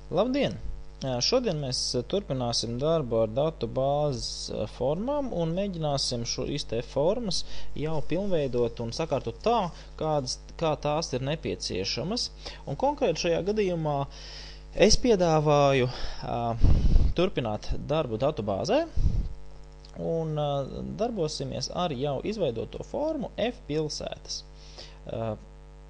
Labdien! Šodien mēs turpināsim darbu ar datu bāzes formām un mēģināsim šīs te formas jau pilnveidot un sakārtot tā, kā tās ir nepieciešamas. Un konkrēti šajā gadījumā es piedāvāju turpināt darbu datu bāzē un darbosimies ar jau izveidoto formu F pilsētas.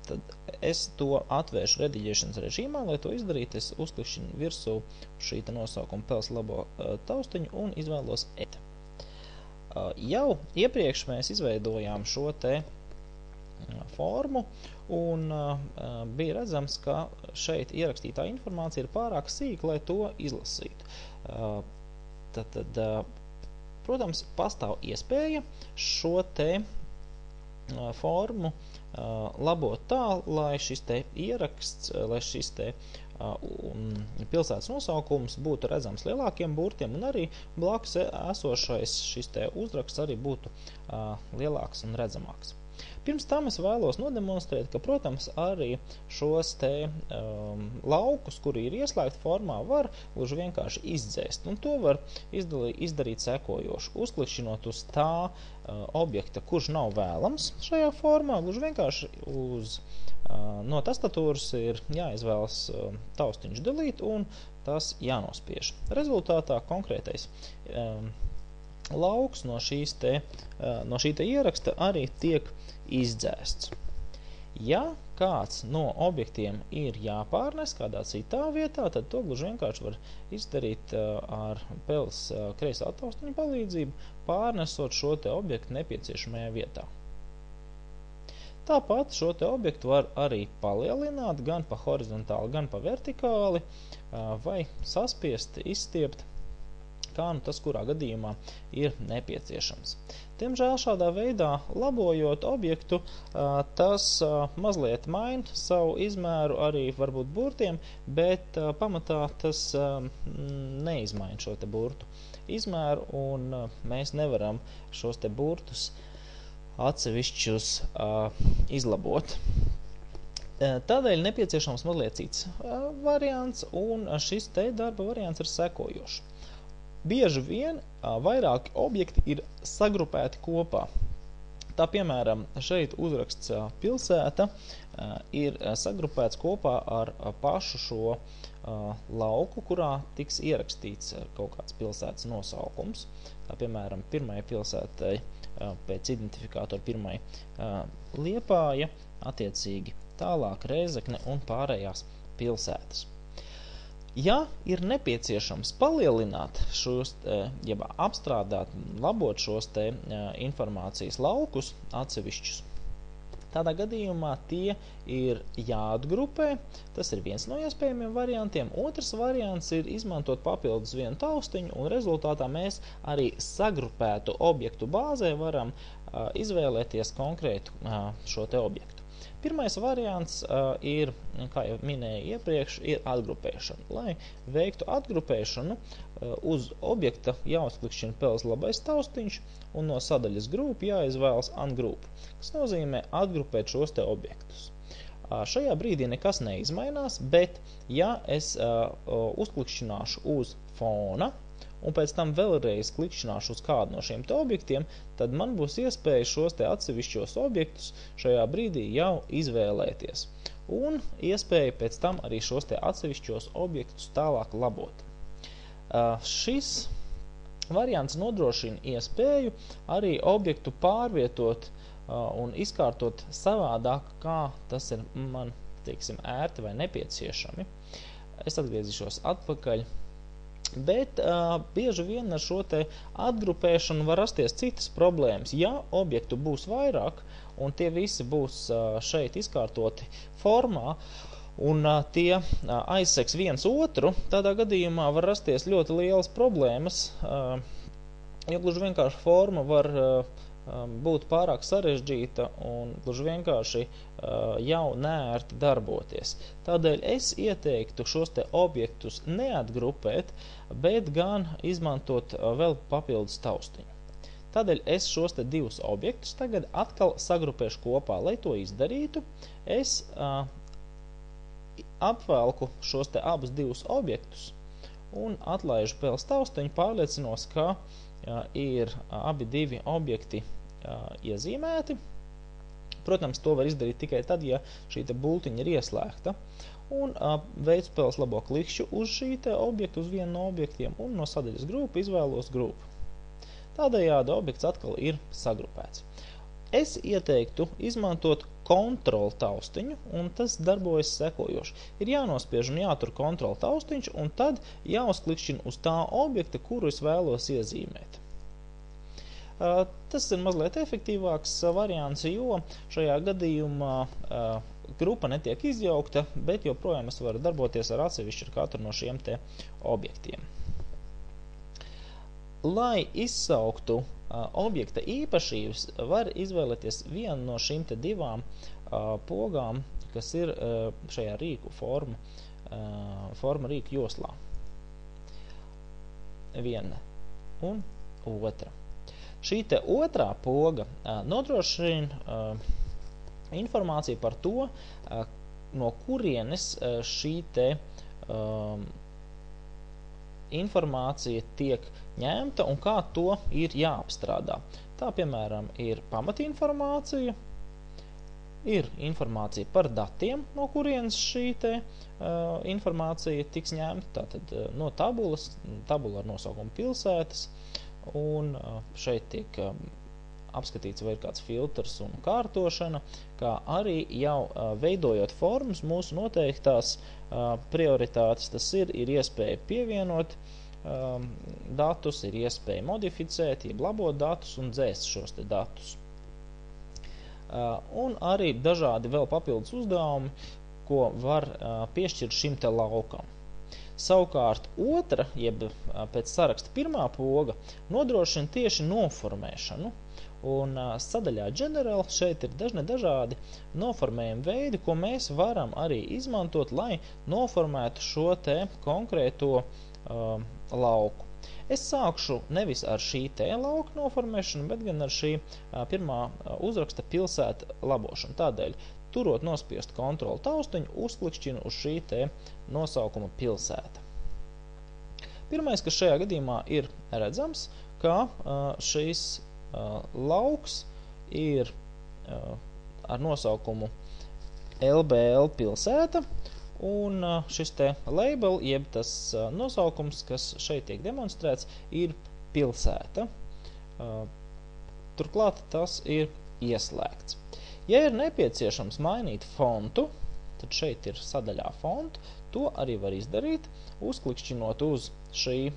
Tad es to atvēršu rediģēšanas režīmā, lai to izdarītu. Es uzklikšķinu virsū šī nosaukuma Pels labo taustiņu un izvēlos et. Jau iepriekš mēs izveidojām šo te formu un bija redzams, ka šeit ierakstītā informācija ir pārāk sīka, lai to izlasītu. Tad, protams, pastāv iespēja šo te formu labot tā, lai šis te ieraksts, lai šis te pilsētas nosaukums būtu redzams lielākiem burtiem un arī blakus esošais šis te uzraksts arī būtu lielāks un redzamāks. Pirms tam es vēlos nodemonstrēt, ka, protams, arī šos te laukus, kuri ir ieslēgti formā, var gluži vienkārši izdzēst. Un to var izdarīt sekojoši. Uzklikšķinot uz tā objekta, kurš nav vēlams šajā formā, gluži vienkārši no tastatūras ir jāizvēlas taustiņš delete un tas jānospiež. Rezultātā konkrētais lauks no šī te ieraksta arī tiek izdzēsts. Ja kāds no objektiem ir jāpārnes kādā citā vietā, tad to gluži vienkārši var izdarīt ar Pels kreisā taustiņa palīdzību, pārnesot šo te objektu nepieciešamajā vietā. Tāpat šo te objektu var arī palielināt gan pa horizontāli, gan pa vertikāli, vai saspiest, izstiept, kā nu tas kurā gadījumā ir nepieciešams. Diemžēl šādā veidā, labojot objektu, tas mazliet maina savu izmēru arī varbūt burtiem, bet pamatā tas neizmaina šo te burtu izmēru un mēs nevaram šos te burtus atsevišķus izlabot. Tādēļ nepieciešams mazliet cits variants un šis te darba variants ir sekojošs. Bieži vien vairāki objekti ir sagrupēti kopā. Tā piemēram, šeit uzraksts pilsēta ir sagrupēts kopā ar pašu šo lauku, kurā tiks ierakstīts kaut kāds pilsētas nosaukums. Tā piemēram, pirmai pilsētai pēc identifikātora pirmai Liepāja, attiecīgi tālāk Rēzekne un pārējās pilsētas. Ja ir nepieciešams palielināt šos, jeb apstrādāt, labot šos te informācijas laukus atsevišķus, tādā gadījumā tie ir jāatgrupē. Tas ir viens no iespējamiem variantiem. Otrs variants ir izmantot papildus vienu taustiņu un rezultātā mēs arī sagrupētu objektu bāzē varam izvēlēties konkrētu šo te objektu. Pirmais variants ir, kā jau minēju iepriekš, ir atgrupēšana. Lai veiktu atgrupēšanu, uz objekta jāuzklikšķina Pels labais taustiņš un no sadaļas group jāizvēlas ungroup, kas nozīmē atgrupēt šos te objektus. Šajā brīdī nekas neizmainās, bet ja es uzklikšķināšu uz fona un pēc tam vēlreiz klikšķināšu uz kādu no šiem te objektiem, tad man būs iespēja šos te atsevišķos objektus šajā brīdī jau izvēlēties. Un iespēja pēc tam arī šos te atsevišķos objektus tālāk labot. Šis variants nodrošina iespēju arī objektu pārvietot un izkārtot savādāk, kā tas ir man, teiksim, ērti vai nepieciešami. Es atgriezīšos atpakaļ. Bet bieži vien ar šo te atgrupēšanu var rasties citas problēmas. Ja objektu būs vairāk un tie visi būs šeit izkārtoti formā un tie aizseks viens otru, tādā gadījumā var rasties ļoti lielas problēmas, jo gluži vienkārši forma var būt pārāk sarežģīta un gluži vienkārši jau neērti darboties. Tādēļ es ieteiktu šos te objektus neatgrupēt, bet gan izmantot vēl papildus taustiņu. Tādēļ es šos te divus objektus tagad atkal sagrupēšu kopā. Lai to izdarītu, es apvelku šos te abus divus objektus un atlaižu pēles taustiņu, pārliecinos, ka ir abi divi objekti iezīmēti. Protams, to var izdarīt tikai tad, ja šī te bultiņa ir ieslēgta. Un veicu pēles labo klikšķu uz šī te objektu, uz vienu no objektiem, un no sadaļas grupu izvēlos grupu. Tādējādi objekts atkal ir sagrupēts. Es ieteiktu izmantot kontrolu taustiņu, un tas darbojas sekojoši. Ir jānospiež un jātur kontrolu taustiņš, un tad jāuzklikšķina uz tā objekta, kuru es vēlos iezīmēt. Tas ir mazliet efektīvāks variants, jo šajā gadījumā grupa netiek izjaukta, bet joprojām es varu darboties ar atsevišķu ar katru no šiem te objektiem. Lai izsauktu objekta īpašības, var izvēlēties vienu no šīm te divām pogām, kas ir šajā rīku forma rīku joslā. Viena un otra. Šī te otrā poga nodrošina informāciju par to, no kurienes šī te informācija tiek ņemta un kā to ir jāapstrādā. Tā, piemēram, ir pamatinformācija, ir informācija par datiem, no kurienes šī te informācija tiks ņemta, tātad no tabulas, tabula ar nosaukumu pilsētas, un šeit tiek apskatīts, vai ir kāds filtrs un kārtošana, kā arī jau veidojot formas mūsu noteiktās prioritātes, tas ir iespēja pievienot datus, ir iespēja modificēt, jeb labot datus un dzēst šos te datus. Un arī dažādi vēl papildus uzdevumi, ko var piešķirt šim te laukam. Savukārt otra, jeb pēc saraksta pirmā poga, nodrošina tieši noformēšanu. Un sadaļā General šeit ir dažādi noformējumi veidi, ko mēs varam arī izmantot, lai noformētu šo te konkrēto lauku. Es sākšu nevis ar šī te lauka noformēšanu, bet gan ar šī pirmā uzraksta pilsēta labošanu. Tādēļ, turot nospiest kontrolu taustiņu, uzklikšķinu uz šī te nosaukuma pilsēta. Pirmais, kas šajā gadījumā ir redzams, ka šīs lauks ir ar nosaukumu LBL pilsēta, un šis te label, jeb tas nosaukums, kas šeit tiek demonstrēts, ir pilsēta. Turklāt tas ir ieslēgts. Ja ir nepieciešams mainīt fontu, tad šeit ir sadaļā fontu, to arī var izdarīt, uzklikšķinot uz šiem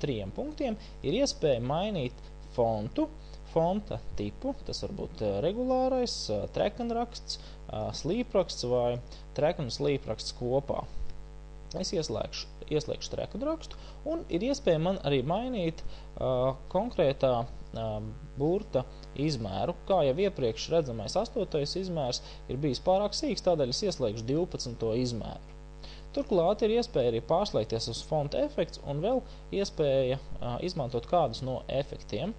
3 punktiem, ir iespēja mainīt fontu, fonta tipu, tas var būt regulārais, trekanraksts, slīpraksts vai trekan un slīpraksts kopā. Es ieslēgšu trekanrakstu, un ir iespēja man arī mainīt konkrētā burta izmēru. Kā jau iepriekš redzamais 8. izmērs ir bijis pārāk sīks, tādēļ es ieslēgšu 12. izmēru. Turklāt ir iespēja arī pārslēgties uz fonta efekts un vēl iespēja izmantot kādus no efektiem.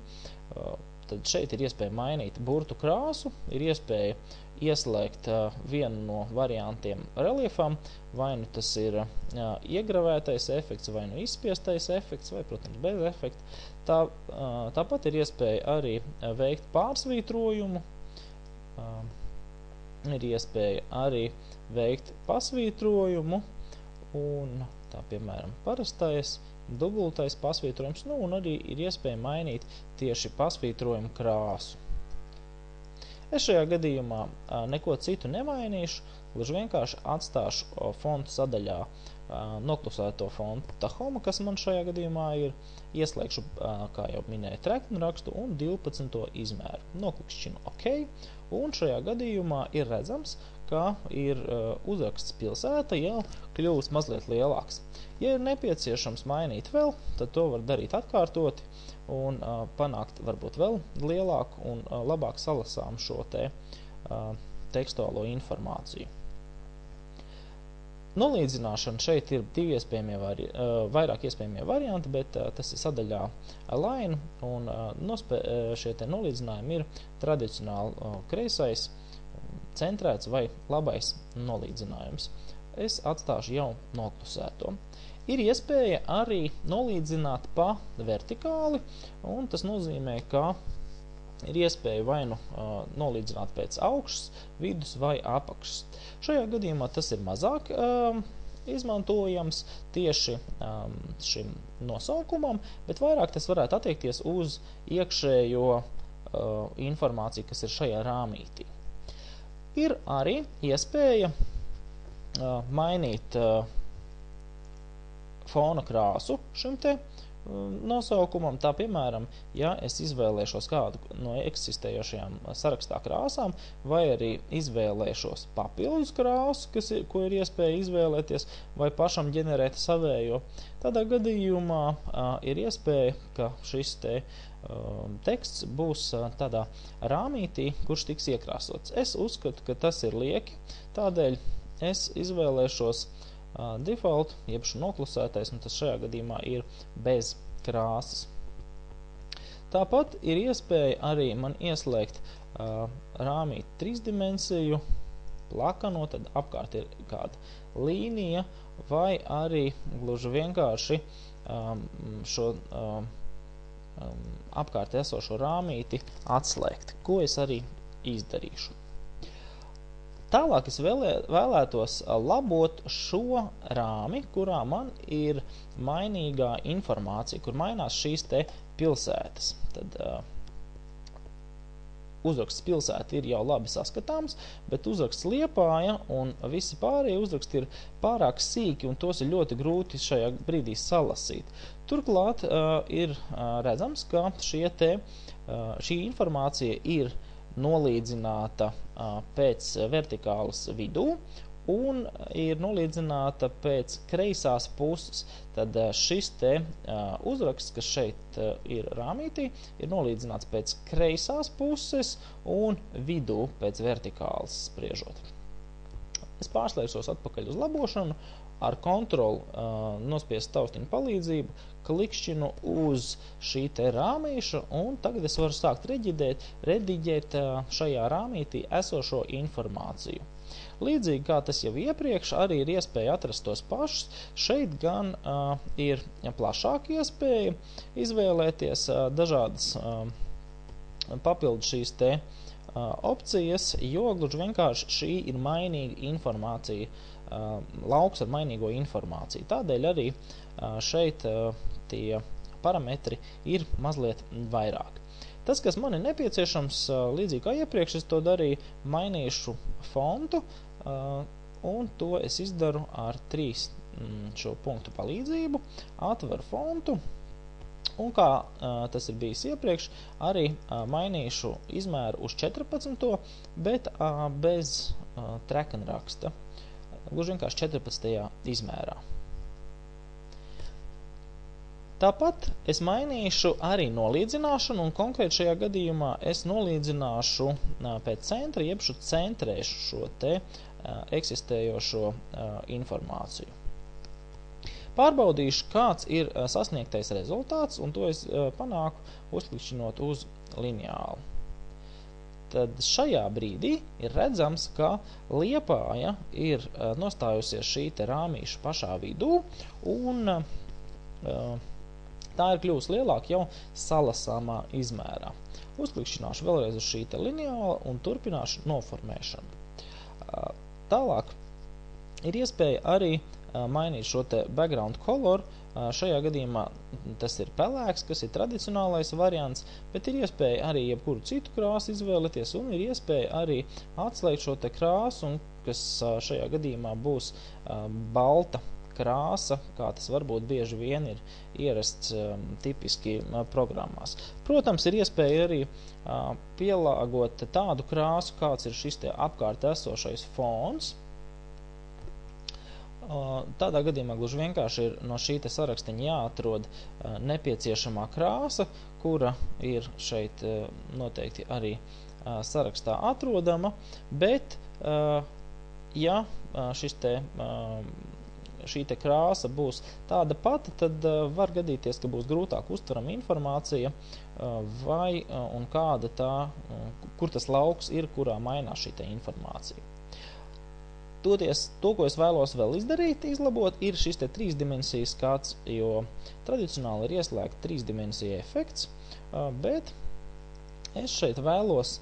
Tad šeit ir iespēja mainīt burtu krāsu, ir iespēja ieslēgt vienu no variantiem reliefam, vai nu tas ir iegravētais efekts, vai nu izspiestais efekts, vai, protams, bez efekta. Tāpat ir iespēja arī veikt pārsvītrojumu, ir iespēja arī veikt pasvītrojumu, un tā, piemēram, parastais, dubultais pasvītrojums, un arī ir iespēja mainīt tieši pasvītrojumu krāsu. Es šajā gadījumā neko citu nemainīšu, gluži vienkārši atstāšu fontu sadaļā noklusēto fontu Tahoma, kas man šajā gadījumā ir, ieslēgšu, kā jau minēju, trekanrakstu un 12. izmēru. Noklikšķinu OK, un šajā gadījumā ir redzams, ka ir uzraksts pilsēta jau kļūst mazliet lielāks. Ja ir nepieciešams mainīt vēl, tad to var darīt atkārtoti un panākt varbūt vēl lielāku un labāk salasām šo te tekstuālo informāciju. Nolīdzināšana šeit ir vairāk iespējamie varianti, bet tas ir sadaļā Align, un šie te nolīdzinājumi ir tradicionāli kreisais, centrēts vai labais nolīdzinājums. Es atstāšu jau noklusēto. Ir iespēja arī nolīdzināt pa vertikāli, un tas nozīmē, ka ir iespēja vai nu nolīdzināt pēc augšas, vidus vai apakšas. Šajā gadījumā tas ir mazāk izmantojams tieši šim nosaukumam, bet vairāk tas varētu attiekties uz iekšējo informāciju, kas ir šajā rāmītī. Ir arī iespēja mainīt fona krāsu šim te nosaukumam. Tā, piemēram, ja es izvēlēšos kādu no eksistējošajām sarakstā krāsām, vai arī izvēlēšos papildus krāsu, ko ir iespēja izvēlēties, vai pašam ģenerēt savējo, tādā gadījumā ir iespēja, ka šis te teksts būs tādā rāmītī, kurš tiks iekrāsots. Es uzskatu, ka tas ir lieki, tādēļ es izvēlēšos default, jeb noklusētais, un tas šajā gadījumā ir bez krāsas. Tāpat ir iespēja arī man ieslēgt rāmīt trīsdimensiju, plakano, tad apkārt ir kāda līnija, vai arī gluži vienkārši šo apkārt esošo rāmīti atslēgt, ko es arī izdarīšu. Tālāk es vēlētos labot šo rāmi, kurā man ir mainīgā informācija, kur mainās šīs te pilsētas. Tad uzraksts pilsēta ir jau labi saskatāms, bet uzraksts Liepāja un visi pārējie uzraksti ir pārāk sīki, un tos ir ļoti grūti šajā brīdī salasīt. Turklāt ir redzams, ka šī informācija ir nolīdzināta pēc vertikālas vidū un ir nolīdzināta pēc kreisās puses. Tad šis te uzraksts, kas šeit ir rāmītī, ir nolīdzināts pēc kreisās puses un vidū pēc vertikālas spriežot. Es pārslēgšos atpakaļ uz labošanu, ar kontrolu nospiest taustiņu palīdzību, klikšķinu uz šī te rāmīša, un tagad es varu sākt rediģēt šajā rāmītī esošo informāciju. Līdzīgi kā tas jau iepriekš, arī ir iespēja atrast tos pašus. Šeit gan ir plašāka iespēja izvēlēties dažādas papildu šīs te opcijas, jo gluži vienkārši šī ir mainīga informācija, lauks ar mainīgo informāciju. Tādēļ arī šeit tie parametri ir mazliet vairāk. Tas, kas man ir nepieciešams, līdzīgi kā iepriekš, es to darīju, mainīšu fontu, un to es izdaru ar 3 šo punktu palīdzību, atveru fontu, un kā tas ir bijis iepriekš, arī mainīšu izmēru uz 14, bet bez trekenraksta. Gluži vienkārši 14. izmērā. Tāpat es mainīšu arī nolīdzināšanu, un konkrēti šajā gadījumā es nolīdzināšu pēc centra, jeb centrēšu šo te eksistējošo informāciju. Pārbaudīšu, kāds ir sasniegtais rezultāts, un to es panāku uzklikšķinot uz lineālu. Tad šajā brīdī ir redzams, ka Liepāja ir nostājusies šī te rāmīša pašā vidū, un tā ir kļuvusi lielāka jau salasāmā izmērā. Uzklikšķināšu vēlreiz uz šī te lineāla un turpināšu noformēšanu. Tālāk ir iespēja arī mainīt šo te background color. Šajā gadījumā tas ir pelēks, kas ir tradicionālais variants, bet ir iespēja arī jebkuru citu krāsu izvēlēties, un ir iespēja arī atslēgt šo te krāsu, kas šajā gadījumā būs balta krāsa, kā tas varbūt bieži vien ir ierasts tipiski programmās. Protams, ir iespēja arī pielāgot tādu krāsu, kāds ir šis te apkārt esošais fons. Tādā gadījumā gluži vienkārši ir no šī te sarakstiņa jāatrod nepieciešamā krāsa, kura ir šeit noteikti arī sarakstā atrodama, bet ja šis te šī te krāsa būs tāda pati, tad var gadīties, ka būs grūtāk uztverama informācija vai un kāda tā, kur tas lauks ir, kurā mainās šī te informācija. Toties, to, ko es vēlos vēl izdarīt, izlabot, ir šis te 3 dimensijas skats, jo tradicionāli ir ieslēgta 3 dimensija efekts, bet es šeit vēlos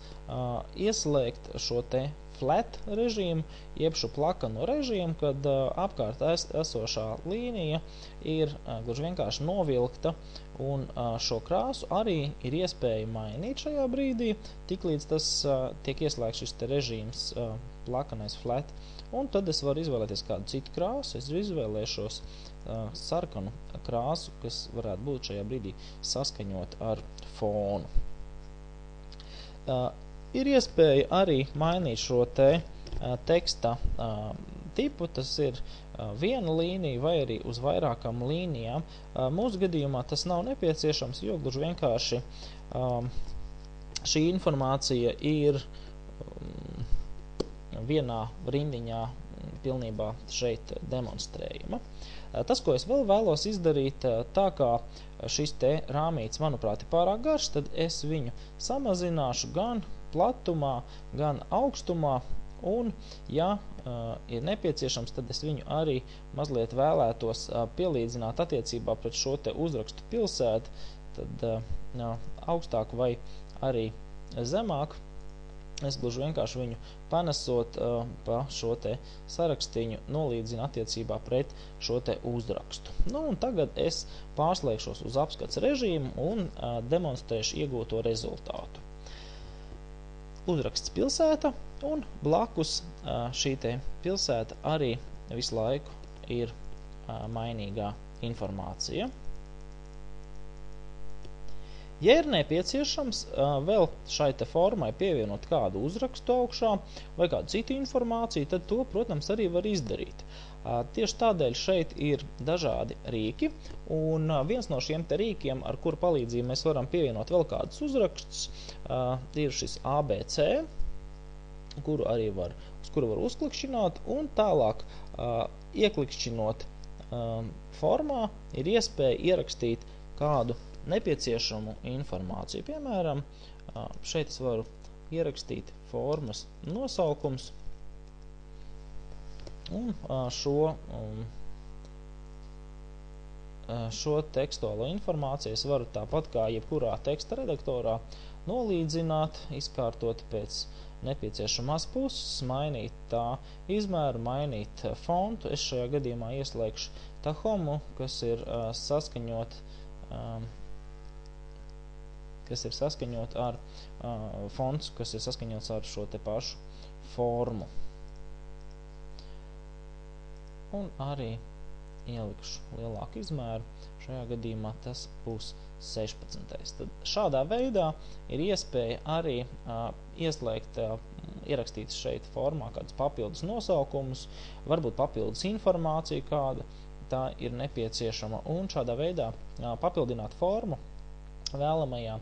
ieslēgt šo te flat režīmu, jeb šo plakano režīmu, kad apkārt esošā līnija ir gluži vienkārši novilkta, un šo krāsu arī ir iespēja mainīt šajā brīdī, tiklīdz tas tiek ieslēgts šis te režīms plakanais flat, un tad es varu izvēlēties kādu citu krāsu, es izvēlēšos sarkanu krāsu, kas varētu būt šajā brīdī saskaņot ar fonu. Ir iespēja arī mainīt šo te teksta tipu, tas ir viena līnija vai arī uz vairākām līnijām. Mūsu gadījumā tas nav nepieciešams, jo gluži vienkārši šī informācija ir vienā rindiņā pilnībā šeit demonstrējama. Tas, ko es vēl vēlos izdarīt, tā kā šis te rāmīts, manuprāt, ir pārāk garš, tad es viņu samazināšu gan platumā, gan augstumā, un, ja ir nepieciešams, tad es viņu arī mazliet vēlētos pielīdzināt attiecībā pret šo te uzrakstu pilsētu, tad augstāk vai arī zemāk. Es gluži vienkārši viņu panesot pa šo te sarakstiņu nolīdzinu attiecībā pret šo te uzrakstu. Nu, un tagad es pārslēgšos uz apskats režīmu un demonstrēšu iegūto rezultātu. Uzraksts pilsēta, un blakus šī te pilsēta arī visu laiku ir mainīgā informācija. Ja ir nepieciešams vēl šai te formai pievienot kādu uzrakstu augšā vai kādu citu informāciju, tad to, protams, arī var izdarīt. Tieši tādēļ šeit ir dažādi rīki, un viens no šiem te rīkiem, ar kuru palīdzību mēs varam pievienot vēl kādus uzrakstus, ir šis ABC, uz kuru var uzklikšķināt, un tālāk ieklikšķinot formā ir iespēja ierakstīt kādu nepieciešamu informāciju. Piemēram, šeit es varu ierakstīt formas nosaukums, un šo tekstuālo informāciju es varu tāpat kā jebkurā teksta redaktorā nolīdzināt, izkārtot pēc nepieciešamās puses, mainīt tā izmēru, mainīt fontu. Es šajā gadījumā ieslēgšu Tahomu, kas ir saskaņot ar fonts, kas ir saskaņots ar šo te pašu formu. Un arī ielikšu lielāku izmēru. Šajā gadījumā tas būs 16. Tad šādā veidā ir iespēja arī ierakstīt šeit formā kādus papildus nosaukumus, varbūt papildus informāciju kāda tā ir nepieciešama, un šādā veidā papildināt formu vēlamajā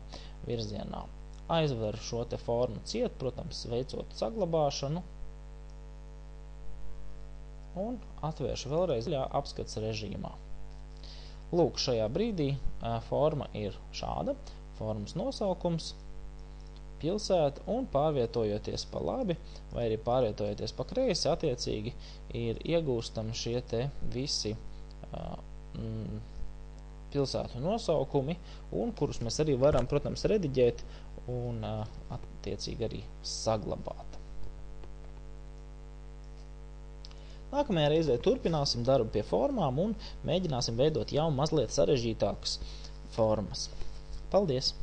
virzienā. Aizveru šo te formu ciet, protams, veicot saglabāšanu, un atvēršu vēlreiz apskats režīmā. Lūk, šajā brīdī forma ir šāda, formas nosaukums, pilsēta, un pārvietojoties pa labi, vai arī pārvietojoties pa kreisi, attiecīgi ir iegūstami šie te visi pilsētu nosaukumi, un kurus mēs arī varam, protams, rediģēt un attiecīgi arī saglabāt. Nākamajā reizē turpināsim darbu pie formām un mēģināsim veidot jau mazliet sarežģītākas formas. Paldies!